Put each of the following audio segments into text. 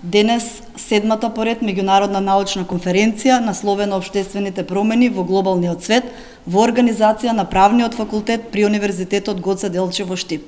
Денес, седмата поред меѓународна научна конференција насловена Обштествените промени во глобалниот свет во организација на Правниот факултет при Универзитетот Гоце Делчев во Штип.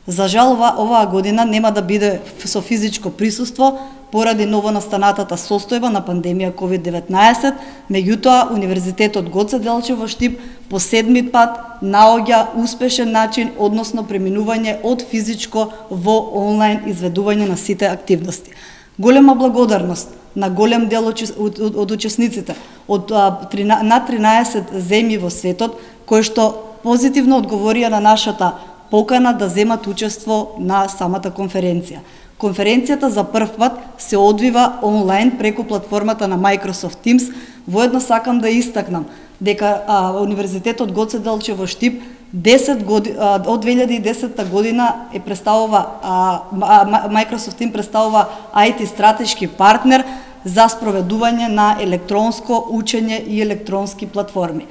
За жал, оваа година нема да биде со физичко присуство поради новонастанатата состојба на пандемија COVID-19, меѓутоа Универзитетот Гоце Делчев во Штип по седми пат наоѓа успешен начин, односно преминување од физичко во онлайн изведување на сите активности. Голема благодарност на голем дел од учесниците од над 13 земји во светот, кои што позитивно одговорија на нашата покана да земат учество на самата конференција. Конференцијата за прв пат се одвива онлайн преку платформата на Microsoft Teams. Воедно сакам да истакнам дека Универзитетот Гоце Делчев во Штип од 2010 година представува Microsoft Teams представува IT стратешки партнер за спроведување на електронско учење и електронски платформи.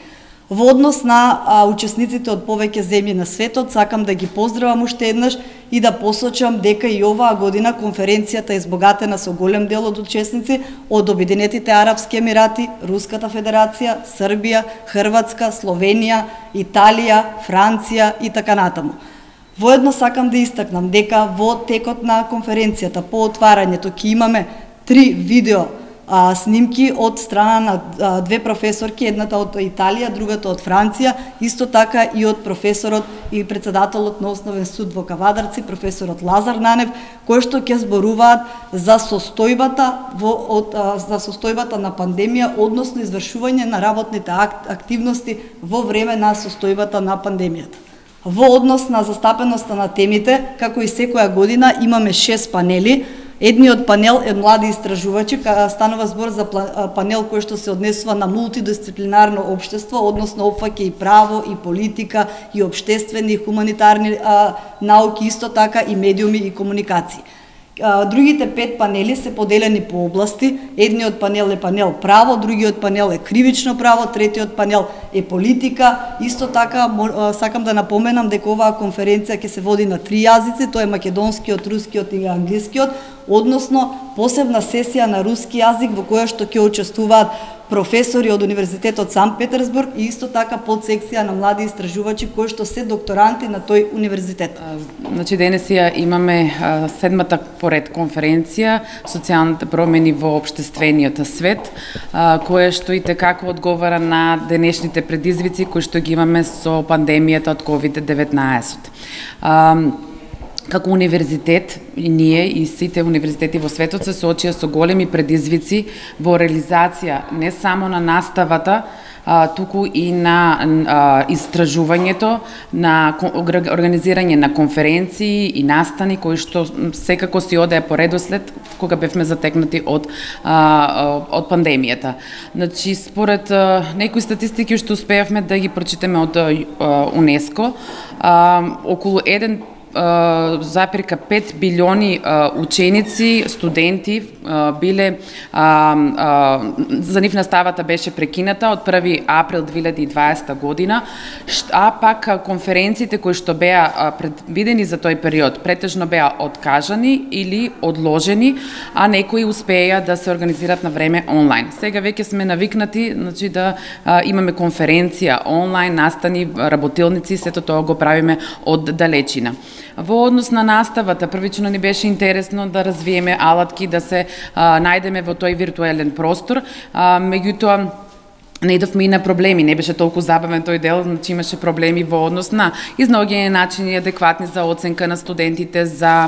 Во однос на учесниците од повеќе земји на светот, сакам да ги поздравам уште еднаш и да посочам дека и оваа година конференцијата е избогатена со голем дел од учесници од Обединетите Арапски Емирати, Руската Федерација, Србија, Хрватска, Словенија, Италија, Франција и така натаму. Воедно сакам да истакнам дека во текот на конференцијата по отварањето ќе имаме 3 видео снимки од страна на две професорки, едната од Италија, другата од Франција, исто така и од професорот и председателот на Основен суд во Кавадарци, професорот Лазар Нанев, кои што ќе зборуваат за состојбата на пандемија, односно извршување на работните активности во време на состојбата на пандемијата. Во однос на застапеноста на темите, како и секоја година, имаме 6 панели. Едниот панел е млади истражувачи, станува збор за панел кој што се однесува на мултидисциплинарно општество, односно опфаќа и право, и политика, и обштествени, и хуманитарни науки, исто така и медиуми и комуникации. Другите 5 панели се поделени по области. Едниот панел е панел право, другиот панел е кривично право, третиот панел е политика. Исто така сакам да напоменам дека оваа конференција ќе се води на 3 јазици, тоа е македонскиот, рускиот и англискиот, односно посебна сесија на руски јазик во која што ќе учествуваат професори од Универзитетот Санкт Петерсбург и исто така подсекција на млади истражувачи кои што се докторанти на тој универзитет. Значи денес ја имаме седмата поред конференција Социјалните промени во општествениот свет, која што и текако одговара на денешните предизвици кои што ги имаме со пандемијата од COVID-19. Како универзитет, и ние и сите универзитети во светот се соочија со големи предизвици во реализација не само на наставата, туку и на истражувањето, на организирање на конференции и настани кои што секако си одеа по редослед кога бевме затекнати од пандемијата. Значи, според некои статистики што успеавме да ги прочитаме од УНЕСКО, околу 1,5 билиони ученици, студенти биле за нив наставата беше прекината од 1 април 2020 година, а пак конференциите кои што беа предвидени за тој период претежно беа откажани или одложени, а некои успеа да се организират на време онлайн. Сега веќе сме навикнати, значи да имаме конференција онлайн, настани, работилници, сето тоа го правиме од далечина. Во однос на наставата, првично ни беше интересно да развиеме алатки, да се најдеме во тој виртуелен простор, меѓутоа наидовме и на проблеми, не беше толку забавен тој дел, значи имаше проблеми во однос на изнаоѓање начини адекватни за оценка на студентите, за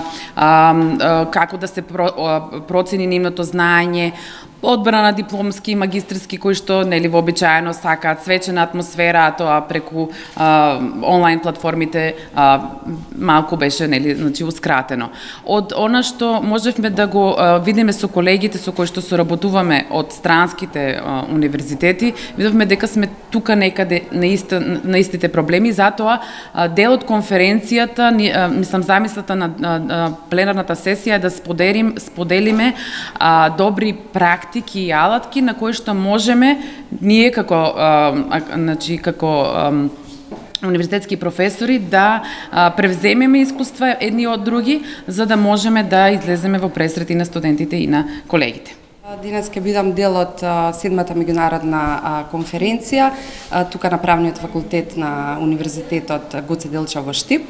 како да се процени нивното знаење, одбрана на дипломски и магистерски кои што нели вообичаено сакаат свечена атмосфера, а тоа преку онлайн платформите малку беше нели значи ускратено. Од она што можевме да го видиме со колегите со кои што соработуваме од странските универзитети, видовме дека сме тука некаде на истите проблеми, затоа дел од конференцијата, мислам замислата на пленарната сесија е да споделиме добри практики и алатки на кои што можеме ние како универзитетски професори да превземеме искуства едни од други, за да можеме да излеземе во пресрет и на студентите и на колегите. Денес ќе бидам дел од 7-та меѓународна конференција тука на правниот факултет на Универзитетот Гоце Делчев во Штип.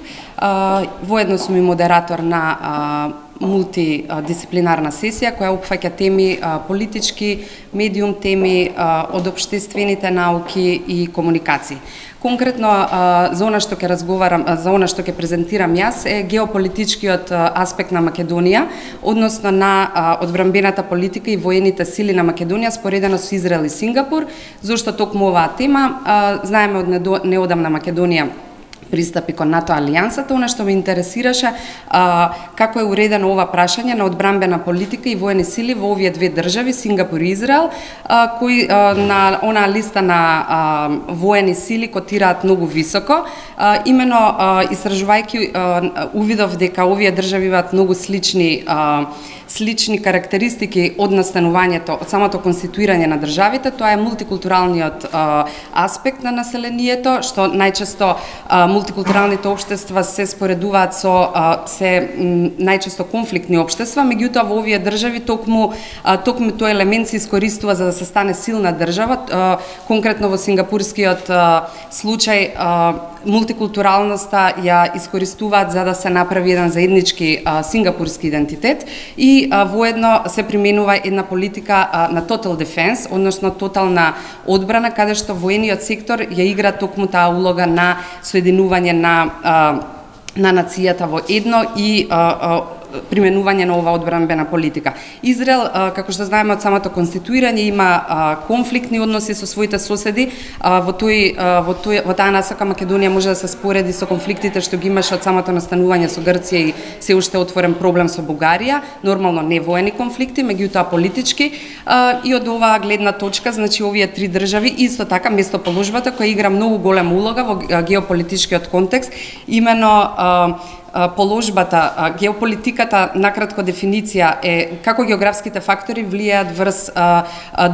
Воедно сум и модератор на мултидисциплинарна сесија која опфаќа теми политички, медиум теми од општествените науки и комуникации. Конкретно за она што ќе разговарам, за она што ќе презентирам јас е геополитичкиот аспект на Македонија, односно на одбранбената политика и воените сили на Македонија споредено со Израел и Сингапур. Зошто токму оваа тема? Знаеме од неодамна Македонија пристапи кон НАТО алијансата, она што ме интересираше како е уредено ова прашање на одбранбена политика и воени сили во овие две држави, Сингапур и Израел, кои на онаа листа на воени сили котираат многу високо. Имено истражувајќи увидов дека овие држави имаат многу слични карактеристики од настанувањето, од самото конституирање на државите. Тоа е мултикултуралниот аспект на населението, што најчесто мултикултуралните општества се споредуваат со најчесто конфликтни општества, меѓутоа во овие држави токму тој елемент се искористува за да се стане силна држава. Конкретно во сингапурскиот случај мултикултуралноста ја искористуваат за да се направи еден заеднички сингапурски идентитет и воедно се применува една политика на total defense, односно тотална одбрана, каде што воениот сектор ја игра токму таа улога на соединување на нацијата во едно и применување на оваа одбранбена политика. Израел, како што знаеме од самото конституирање, има конфликтни односи со своите соседи. Во таа насока Македонија може да се спореди со конфликтите што ги имаше од самото настанување со Грција и се уште отворен проблем со Бугарија. Нормално не воени конфликти, меѓутоа политички. И од оваа гледна точка, значи овие три држави исто така местоположбата која игра многу голема улога во геополитичкиот контекст, именно положбата, геополитиката, накратко дефиниција е како географските фактори влијаат врз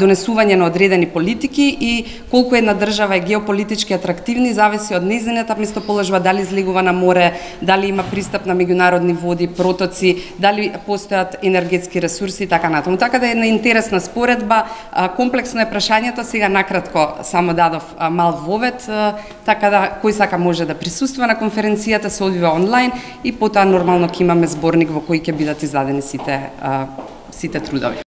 донесување на одредени политики и колку една држава е геополитички атрактивни зависи од нејзината местоположба, дали излегува на море, дали има пристап на меѓународни води, протоци, дали постојат енергетски ресурси и така натаму. Така да е една интересна споредба, комплексно е прашањето, сега накратко само дадов мал вовед, така да кој сака може да присуства на конференцијата, се одвива онлайн и потоа нормално ќе имаме зборник во кој ќе бидат издадени сите трудови.